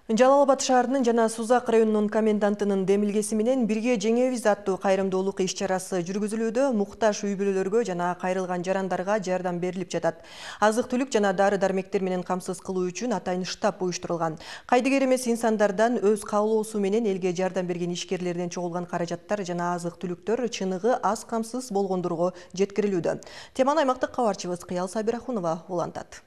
Жалал Абад шаарынын жана Сузак районунун комендантынын демилгеси менен бирге жеңебиз аттуу кайрымдуулук иш-чарасы жүргүзүлүүдө. Муктаж үй-бүлөлөргө жана кайрылган жарандарга жардам берилип жатат. Азык-түлүк жана дары-дармектер менен камсыз кылуу үчүн атайын штаб уюштурулган. Кайдыгер эмес инсандардан өз каалоосу менен элге жардам берген ишкерлерден чогулган каражаттар жана азык-түлүктөр чыныгы аз камсыз болгондорго жеткирилүүдө. Теманы аймактык кабарчыбыз Кыял Сабирахунова улантат.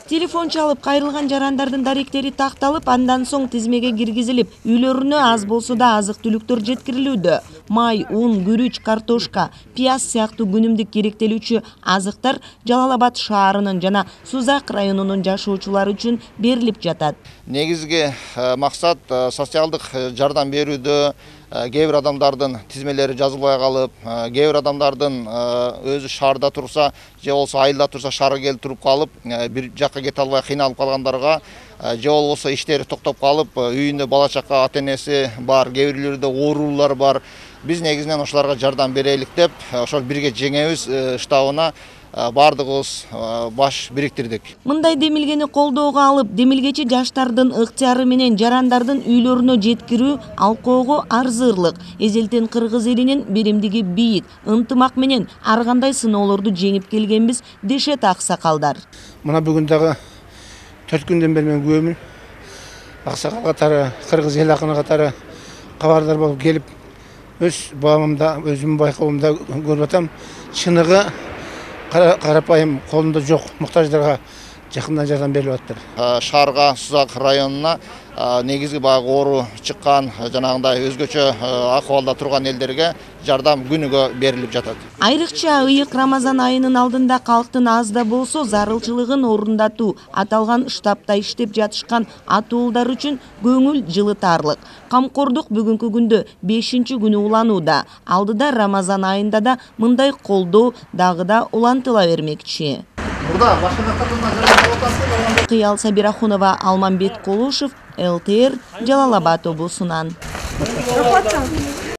Телефон чалып кайрылган жарандардын даректери такталып, андан соң тизмеге киргизилип, үйлөрүнө аз болсо да азык-түлүктөр жеткирилүүдө. Май, ун, күрүч, картошка, пияз сыяктуу күнүмдүк керектелүүчү азыктар Жалал Абад шаарынын жана Сузак районунун жашоочулары үчүн берилип жатат. Негизги максат социалдык жардам берүүдө. Кээ бир адамдардын тизмелери жазылбай калып, кээ бир адамдардын өзү шаарда турса, же болбосо айылда турса шаарга келип туруп калып, бир жакка кете албай кыйналып калгандарга, же болбосо иштери токтоп калып, үйүндө бала чака ата-энеси бар, кээ бирлерде оорулар бар. Биз негизинен ошолорго жардам берелик деп, ошол бирге жеңебиз штабына бардыгыбыз баш бириктирдик. Мындай демилгени колдоого алып, демилгечи жаштардын ыктыяры менен жарандардын үйлөрүнө жеткирүү алкоого арзырлык. Эзелтен кыргыз элинин биримдиги бийик, ынтымак менен ар кандай сыноолорду жеңип келгенбиз дешет аксакалдар. Мына бүгүн дагы 4 күндөн бери мен күбөмүн. Аксакал катары, кыргыз эл акыны катары кабардар болуп келип, өз баамымда, өзүмдүн байкоомдо көрүп атам. Чыныгы карапайым колунда жок муктаждарга жакындан жардам берилип атат. Шаарга, Сузак районуна негизги баягы оору чыккан, жанагындай өзгөчө акыбалда турган элдерге жардам күнүгө берилип жатат. Айрыкча ыйык Рамазан айынын алдында калктын аз да болсо зарылчылыгын орундатуу аталган штабта иштеп жатышкан атуулдар үчүн көңүл жылытарлык. Камкордук бүгүнкү күндө 5-чи күнү уланууда. Алдыда Рамазан айында да мындай колдоо дагы да улантыла бермекчи. Кыял Сабирахунова, Алмамбет Колушев, ЛТР, Жалал Абад облусунан.